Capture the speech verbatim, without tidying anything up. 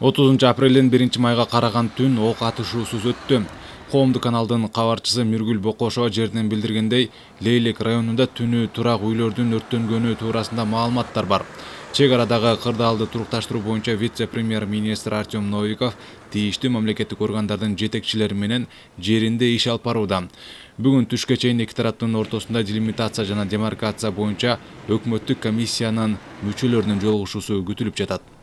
отузунчу апрелден биринчи майга караган түн ок атышуусуз өттү. Коомдук каналдын кабарчысы Миргүл Бокошова жерден билдиргендей, Лейлек районунда түнү турак үйлөрдүн өрттөнгөнү туурасында маалыматтар бар. Чек арадагы кырдаалды турукташтыруу боюнча вице-премьер-министр Артем Новиков тийиштүү мамлекеттик органдардын жетекчилери менен жеринде иш алып барууда. Бүгүн түшкө чейин эки тараптын ортосунда делимитация жана демаркация боюнча өкмөттүк комиссиянын мүчөлөрүнүн жолугушуусу күтүлүп жатат.